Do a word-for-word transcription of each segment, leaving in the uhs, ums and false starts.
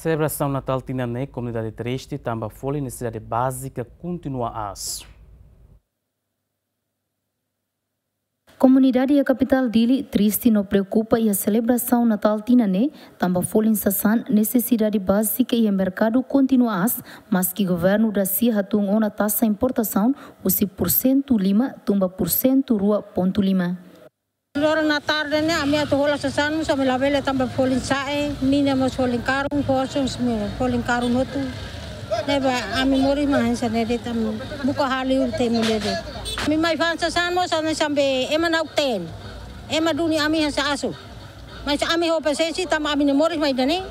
Selebrasaun Natál tinan ne'e, komunidade triste tanba folin nesesidade bázika kontinua aas. Komunidade iha kapitál Dili triste no preokupa iha selebrasaun Natál tinan ne'e, tanba folin sasán, nesesidade bázika iha merkadu kontinua aas, maski governu dasia hatún ona taxa importasaun husi pursentu lima to'o pursentu rua pontu lima. Loron Natál ne'e, ami atu hola sasán mós ami labele tanba folin sa'e, mina mós folin karun, foos mós folin karun hotu. Ne'ebé ami moris mai hanesan ne'e de'it, ami buka hali urte mulher de'it. Ami mai fa'an sasán mós hanesan be ema na'ok-teen. Ema duni ami hanesan asu. Mas ami ho pasiénsia tanba ami-nia moris mai ida-ne'e.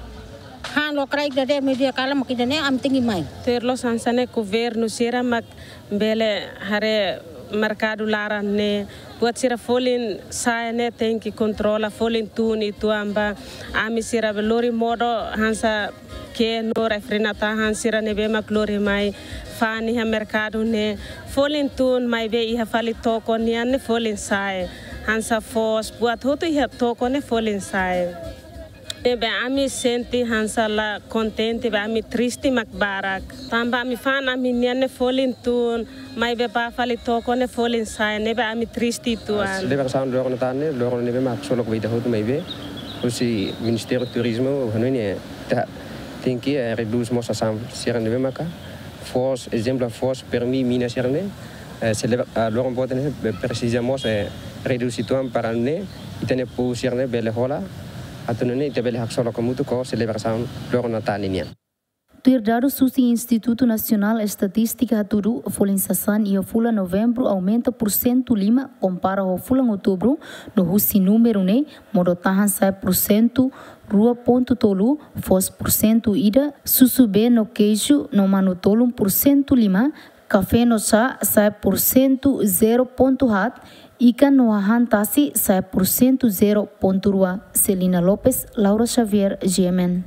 Han lokraik ida-ne'e, media kala mak ida-ne'e, ami tenke mai. Tuir loos hanesan ne'e governu sira mak bele haree merkadu laran ne'e. Buat sira folin sa'e ne'e tenke kontrola, folin tun uitoan ba. Ami sira be lori modo hanesan kenu, refri, natahan sira ne'ebé mak lori mai fa'an iha merkadu ne'e. Folin tun maibé iha fali toko nian ne'e folin sa'e. Hanesan foos, buat hotu iha toko ne'e folin sa'e. Ne'ebé ami sente hanesan la kontente, be ami triste mak barak. Tanba ami fa'an ami-nian ne'e folin tun, maibé bá fali toko ne'e folin sa'e, ne'ebé ami triste uitoan. Selebrasaun loron Natál ne'e, loron ne'ebé mak haksolok ba ita hotu maibé husi Ministériu Turizmu hanoin ne'e ita tenke, eh, redús mós sasán sira ne'ebé maka foos, ezemplu foos, permi, mina sira ne'e, eh, selebra, ah, loron boot ne'e, be presiza mós, eh, redús uitoan para nune'e ita-nia povu sira ne'e bele hola, atu nune'e ita bele haksolok hamutuk ho selebrasaun loron Natál ninian. Tuir dadus husi Institutu Nasionál Estatístika hatudu, folin sasán iha fulan Novembru aumenta pursentu lima kompara ho fulan Outubru, no husi númeru ne'e, modo-tahan sa'e pursentu rua pontu tolu, foos pursentu ida, susubee no keiju no manu-tolun pursentu lima, kafé no xá sa'e pursentu zero pontu haat, ikan no hahán tasi sa'e pursentu zero pontu rua. Celina Lopes, Laura Xavier, G M N.